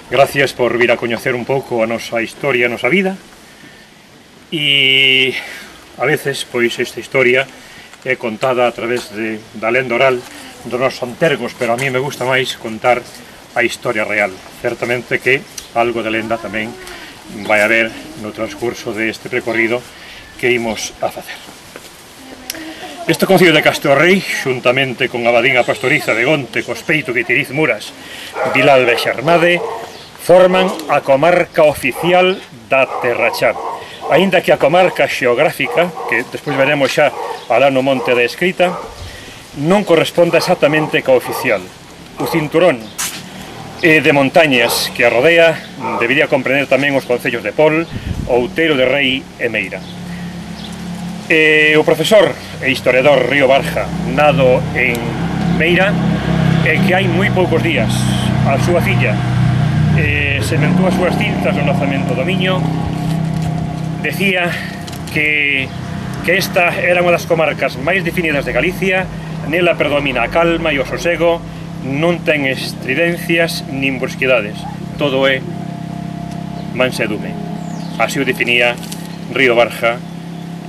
Gracias por vir a coñecer un pouco a nosa historia, a nosa vida. E a veces, pois, esta historia é contada a través da lenda oral dos nosos antergos, pero a mí me gusta máis contar a historia real. Certamente que algo de lenda tamén vai haber no transcurso deste recorrido que imos a facer. Este concello de Castro Rei, xuntamente con a Abadín a Pastoriza de Gonte, Cospeito, Guitiriz, Muras, Vilalba e Xarmade, forman a comarca oficial da Terra Chá. Aínda que a comarca xeográfica, que despois veremos xa alá no monte da escrita, non corresponde exactamente ca oficial. O cinturón de montañas que a rodea debería comprender tamén os concellos de Pol, Outeiro de Rei e Meira. O profesor e historiador Río Barja, nado en Meira, e que hai moi poucos días a súa filla sementou as súas cintas no nacemento do Miño, decía que esta era unha das comarcas máis definidas de Galicia. Nela predomina a calma e o sosego, non ten estridencias nin brusquidades, todo é mansedume. Así o definía Río Barja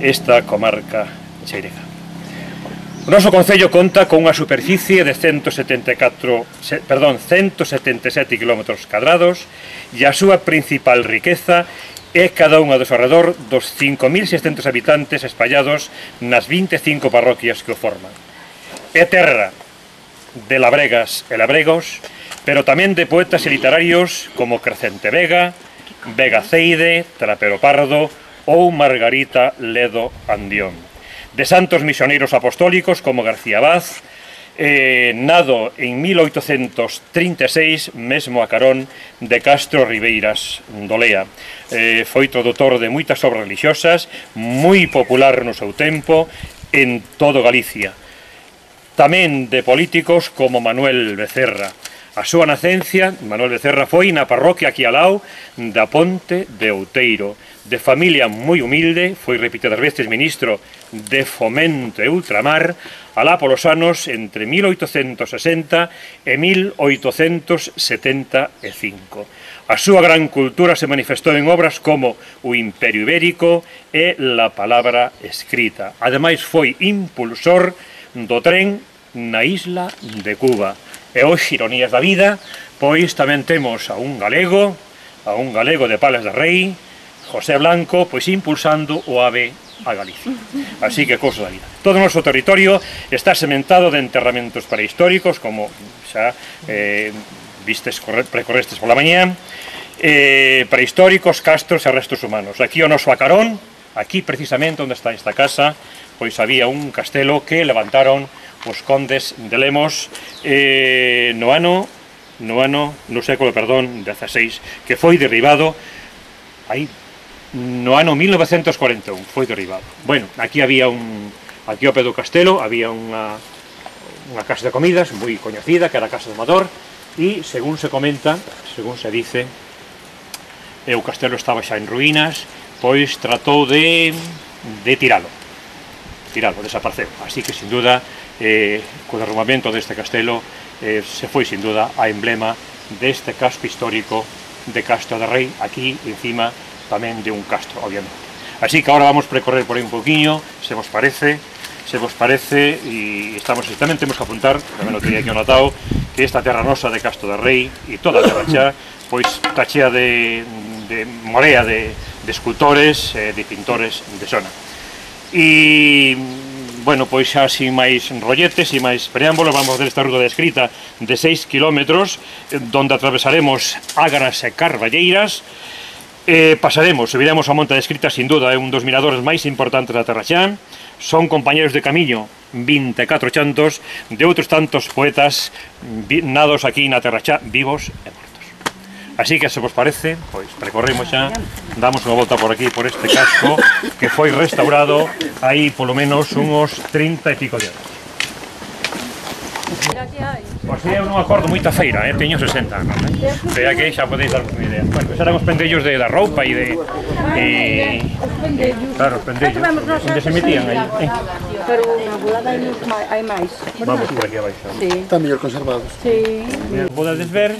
esta comarca cheirega. O noso concello conta con unha superficie de 177 km cadrados e a súa principal riqueza é cada unha dos alrededor dos 5.600 habitantes espallados nas 25 parroquias que o forman. É terra de labregas e labregos, pero tamén de poetas e literarios como Crecente Vega, Vega Ceide, Trapero Pardo ou Margarita Ledo Andión. De santos misioneiros apostólicos como García Vaz, nado en 1836, mesmo a carón de Castro Ribeiras do Lea. Foi tradutor de moitas obras religiosas, moi popular no seu tempo en todo Galicia. Tamén de políticos como Manuel Becerra. A súa nacencia, Manuel Becerra, foi na parroquia aquí ao lado da Ponte de Outeiro. De familia moi humilde, foi repetidas veces ministro de Fomento e Ultramar, alá polos anos entre 1860 e 1875. A súa gran cultura se manifestou en obras como O Imperio Ibérico e La Palabra Escrita. Ademais, foi impulsor do tren na isla de Cuba. E hoxe, ironías da vida, pois tamén temos a un galego de Palas de Rei, José Blanco, pois impulsando o AVE a Galicia. Así que cousa da vida. Todo o noso territorio está sementado de enterramentos prehistóricos, como xa vistes, precorrestes pola mañá, prehistóricos, castros e restos humanos. Aquí o noso acarón, aquí precisamente onde está esta casa, pois había un castelo que levantaron os condes de Lemos no século, XVI, que foi derribado aí no ano 1941, foi derribado. Bueno, aquí había aquí ao pé do castelo había unha casa de comidas moi coñecida, que era a Casa do Amador, e según se comenta, según se dice, o castelo estaba xa en ruínas, pois tratou de tiralo, desapareceu. Así que, sin duda, co derrubamento deste castelo se foi, sin duda, a emblema deste casco histórico de Castro de Rei, aquí encima tamén de un castro, obviamente. Así que agora vamos a precorrer por aí un poquinho, se vos parece, e tamén temos que apuntar, tamén o teria aquí anotado, que esta terra nosa de Castro de Rei e toda a terra xa, pois está chea de morea de escultores, de pintores de zona. E, bueno, pois xa sin máis rolletes e máis preámbulos, vamos a ver esta ruta de escrita de 6 kilómetros, donde atravesaremos Ágaras e Carballeiras, pasaremos, subiremos a Monte de Escrita, sin duda, é un dos miradores máis importantes da Terra Xa. Son compañeros de camiño 24 chantos de outros tantos poetas nados aquí na Terra Xa, vivos e mortos. Así que, se vos parece, pois precorremos xa, damos unha volta por aquí, por este casco, que foi restaurado aí polo menos uns 30 e pico de anos. Pois eu non acordo moita feira, teño 60 anos, pero aquí xa podeis dar unha idea. Bueno, pois eran os pendellos da roupa e de... Claro, os pendellos, onde se metían aí. Pero na volada hai máis. Vamos por aquí abaixo. Están mellor conservados. Sí. Podedes ver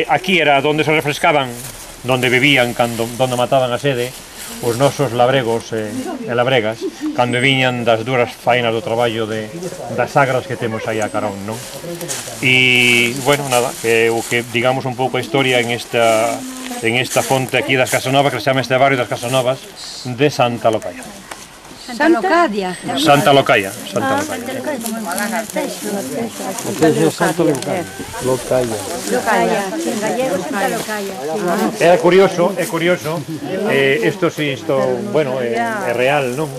aquí era onde se refrescaban, onde vivían, onde mataban a sede os nosos labregos e labregas cando viñan das duras faenas do traballo das sagras que temos aí a carón, non? E, bueno, nada, o que digamos un pouco a historia en esta fonte aquí das Casanovas, que se chama este barrio das Casanovas de Santa Locaia. Santa Locaia. Santa Locaia, Santa Locaia. Santa Locaia, como en Texo. Santa Locaia. Locaia, en gallego Santa Locaia. É curioso, isto, bueno, é real, non?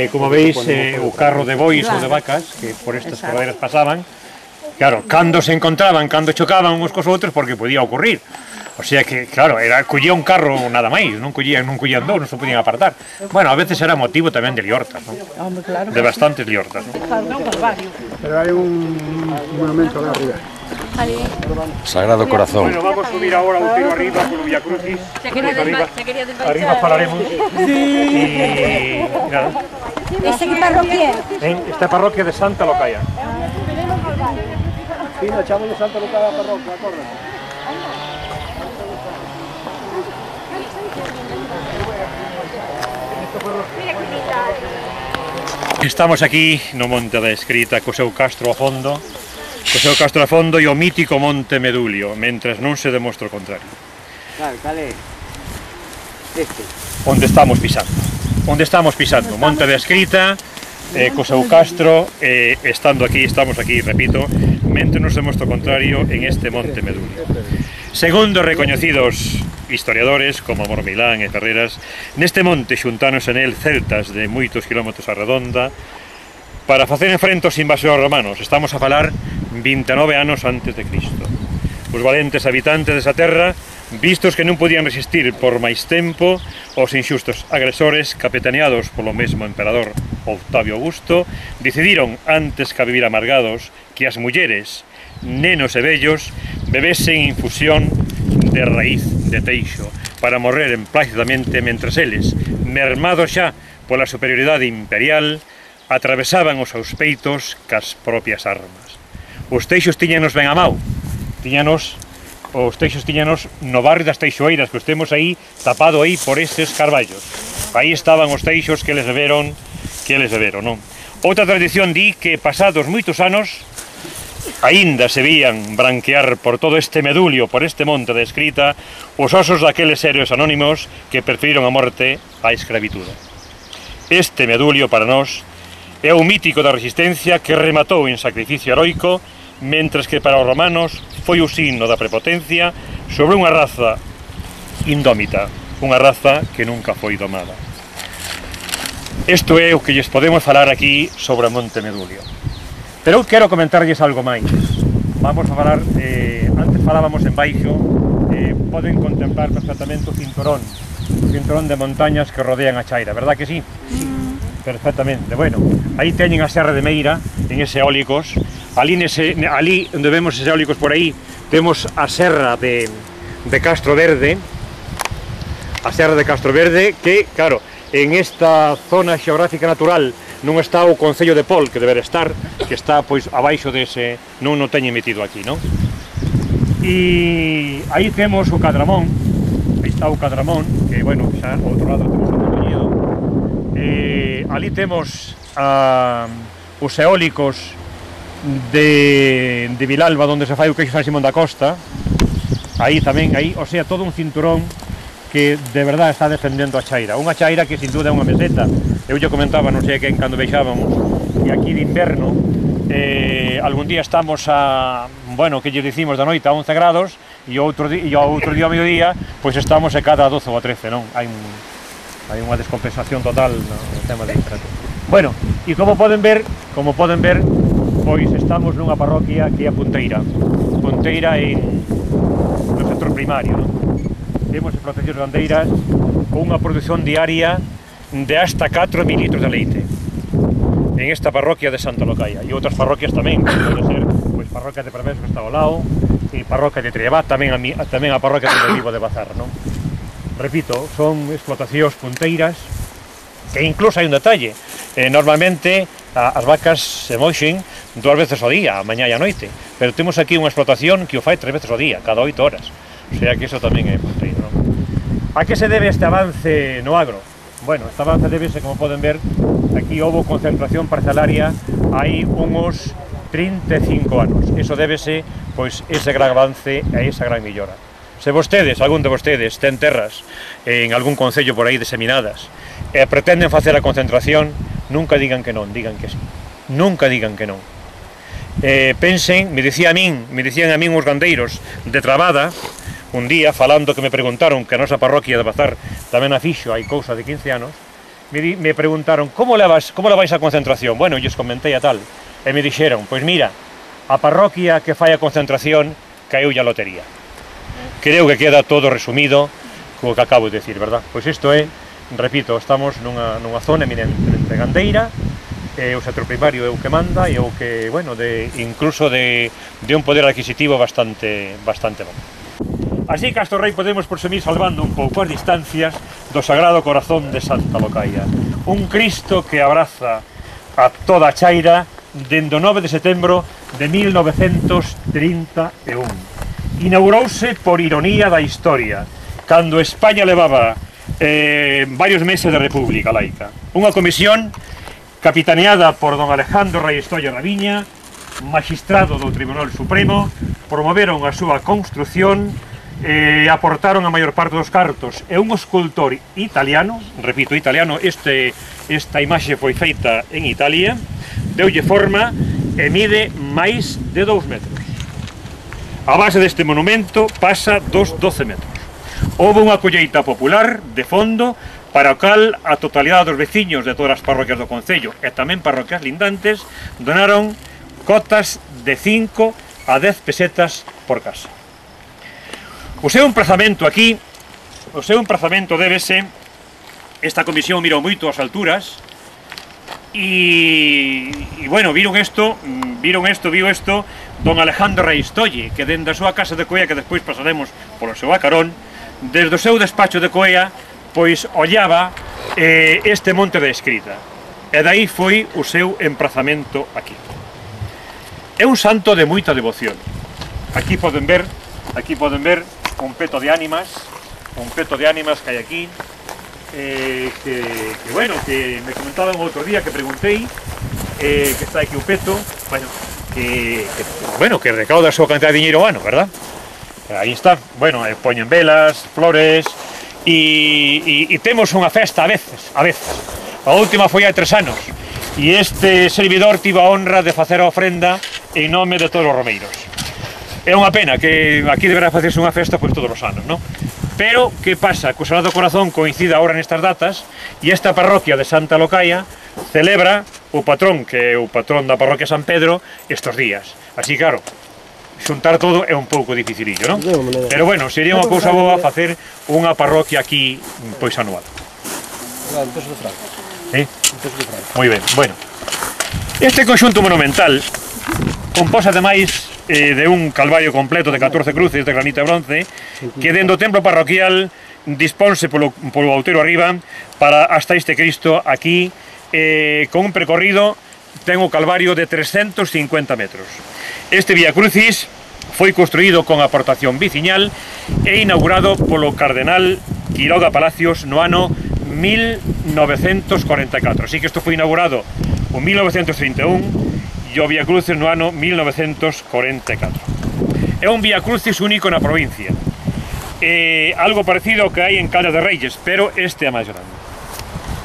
Como veis, o carro de bois ou de vacas que por estas corredeiras pasaban, claro, cando se encontraban, cando chocaban uns cos outros, porque podía ocurrir. O sea que, claro, collía un carro nada máis, non collían dous, non se podían apartar. Bueno, a veces era motivo tamén de liortas, non? De bastantes liortas, non? Pero hai un monumento lá arriba. Sagrado Corazón. Bueno, vamos a subir ahora un tiro arriba polo Vía Crucis. Arriba falaremos. E nada. Esta que parroquia é? Esta parroquia de Santa Locaia. Sí, nos echamos de Santa Locaia a parroquia, acorda. Estamos aquí no Monte da Escrita co seu castro a fondo, e o mítico Monte Medulio, mentres non se demostra o contrario. Cal é? Este. Onde estamos pisando, Monte da Escrita, co seu castro, estamos aquí, repito, mentre non se demostra o contrario en este Monte Medulio. Segundo recoñecidos historiadores como Mormilán e Ferreras, neste monte xuntáronse nel celtas de moitos kilómetros a redonda para facer enfrente aos invasores romanos. Estamos a falar 29 anos antes de Cristo. Os valentes habitantes desa terra, vistos que non podían resistir por máis tempo aos inxustos agresores capitaneados polo mesmo emperador Octavio Augusto, decidiron, antes que a vivir amargados, que as mulleres, nenos e vellos bebesen infusión de raíz de teixo para morrer emplazadamente mentres eles, mermados xa pola superioridade imperial, atravesaban os seus peitos cas propias armas. Os teixos tiñanos ben a mau, os teixos tiñanos no barrio das Teixoeiras, que os temos aí tapado aí por estes carballos. Aí estaban os teixos que les deberon, non? Outra tradición di que pasados moitos anos aínda se vían branquear por todo este medulio, por este monte de Escrita, os osos daqueles héroes anónimos que preferiron a morte á escravitude. Este medulio para nós é o mítico da resistencia que rematou en sacrificio heroico, mentres que para os romanos foi o signo da prepotencia sobre unha raza indómita, unha raza que nunca foi domada. Isto é o que lles podemos falar aquí sobre o Monte Medulio. Pero eu quero comentarlles algo máis. Vamos a falar, antes falábamos en baixo, poden contemplar perfectamente o cinturón de montañas que rodean a chaira, verdad que sí? Perfectamente. Bueno, aí teñen a Serra de Meira, en ese eólicos. Ali onde vemos ese eólicos por aí, temos a Serra de Castro Verde. A Serra de Castro Verde, que, claro, en esta zona xeográfica natural non está o Concello de Pol, que deber estar, que está, pois, abaixo dese, non o teñen metido aquí, non? E aí temos o Cadramón, aí está o Cadramón, que, bueno, xa ao outro lado temos o Mondoñedo. Ali temos os eólicos de Vilalba, onde se fai o queixo San Simón da Costa. Aí tamén, o sea, todo un cinturón que de verdade está defendendo a chaira. Unha chaira que sin duda é unha meseta. Eu lle comentaba, non sei quen, cando veixábamos, e aquí de inverno, algún día estamos a, bueno, que lle dicimos da noite a 11 grados, e o outro día ao mediodía, pois estamos a cada 12 ou a 13, non? Hai unha descompensación total no tema de temperatura. Bueno, e como poden ver, pois estamos nunha parroquia que é a Punteira no sector primario, non? Temos explotacións gandeiras con unha produción diaria de hasta 4.000 litros de leite en esta parroquia de Santa Locaia, e outras parroquias tamén, que pode ser, pois, parroquia de Parvés, que está ao lado, e parroquia de Triabá, tamén a parroquia de Vivo de Bazar, non? Repito, son explotacións punteiras, que incluso hai un detalle, normalmente as vacas se moixen 2 veces ao día, a mañá e a noite, pero temos aquí unha explotación que o fai 3 veces ao día, cada 8 horas, o sea que iso tamén é importante, non? A que se debe este avance no agro? Bueno, este avance debese, como poden ver, aquí houve concentración parcelaria hai uns 35 anos, iso débese, pois, ese gran avance e esa gran millora. Se vostedes, algún de vostedes, ten terras en algún concello por aí diseminadas e pretenden facer a concentración, nunca digan que non, digan que sí. Nunca digan que non. Pensen, me dicían a min os gandeiros de Trabada, un día, falando que me preguntaron que a nosa parroquia de Bazar tamén a fixo hai cousa de 15 anos, me preguntaron, como levais a concentración? Bueno, lles comentei a tal, e me dixeron, pois mira, a parroquia que fai a concentración caeulle a lotería. Creo que queda todo resumido co que acabo de decir, verdad? Pois isto é, repito, estamos nunha zona eminentemente gandeira, e o sector primario é o que manda e o que, bueno, incluso de un poder adquisitivo bastante bom. Así que hasta o Rei podemos por semir salvando un pouco as distancias do Sagrado Corazón de Santa Locaia. Un Cristo que abraza a toda a chaira dende o 9 de setembro de 1931. Inaugurouse por ironía da historia, cando España levaba varios meses de república laica. Unha comisión capitaneada por don Alejandro Rey Estolla Raviña, magistrado do Tribunal Supremo, promoveron a súa construción e aportaron a maior parte dos cartos, e un escultor italiano, repito, italiano, esta imaxe foi feita en Italia, deulle forma e mide máis de 2 metros. A base deste monumento pasa dos 12 metros. Houve unha colleita popular de fondo para o cal a totalidade dos veciños de todas as parroquias do concello e tamén parroquias lindantes donaron cotas de 5 a 10 pesetas por casa. O seu emprazamento aquí, débese, esta comisión mirou moito as alturas e bueno, viu isto don Alejandro Reistolle, que dende a súa casa de Coea, que despois pasaremos polo seu acarón, desde o seu despacho de Coea, pois ollaba este monte de escrita. E dai foi o seu emprazamento aquí. É un santo de moita devoción. Aquí poden ver un peto de ánimas que hai aquí, que me comentaban outro día que preguntei, que está aquí o peto, que recauda a súa cantidad de dinheiro ano, verdad? Aí está, poñen velas, flores, e temos unha festa a veces. A última foi hai 3 anos, e este servidor tivo a honra de facer a ofrenda en nome de todos os romeiros. É unha pena que aquí deberá facerse unha festa pois todos os anos, non? Pero, que pasa? Que o Sagrado Corazón coincide agora nestas datas e esta parroquia de Santa Locaia celebra o patrón, que é o patrón da parroquia San Pedro, estes días. Así, claro, xuntar todo é un pouco dificilillo, non? Pero, bueno, sería unha cousa boa facer unha parroquia aquí, pois, anual. Moi ben, bueno. Este conxunto monumental composa ademais de un calvario completo de 14 cruces de granito e bronce que dentro do templo parroquial disponse polo outeiro arriba para hasta este Cristo aquí con un percorrido ten o calvario de 350 metros. Este Vía Crucis foi construído con aportación viciñal e inaugurado polo cardenal Quiroga Palacios no ano 1944. Así que isto foi inaugurado en 1931 e o Vía Crucis no ano 1944. É un Vía Crucis único na provincia. Algo parecido ao que hai en Caldas de Reis, pero este é máis grande.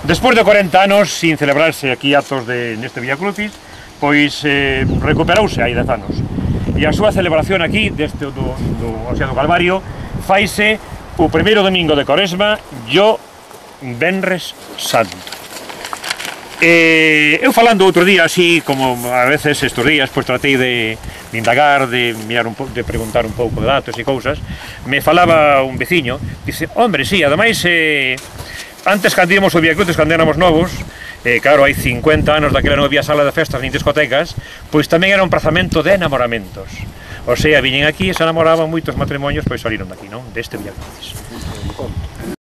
Despois de 40 anos sin celebrarse aquí actos neste Vía Crucis, pois recuperouse hai 10 anos. E a súa celebración aquí, do Calvario, faise o primeiro domingo de Coresma e o Venres Santo. Eu falando outro día, así como a veces estes días, pois tratei de indagar, de preguntar un pouco de datos e cousas, me falaba un veciño, dice, hombre, sí, ademais, antes cando íamos ao Vía Crucis, cando éramos novos, claro, hai 50 anos daquela non había sala de festas nin discotecas, pois tamén era un prazamento de enamoramentos. O sea, viñen aquí e se enamoraban moitos matrimonios, pois saliron daqui, non? Deste Vía Crucis.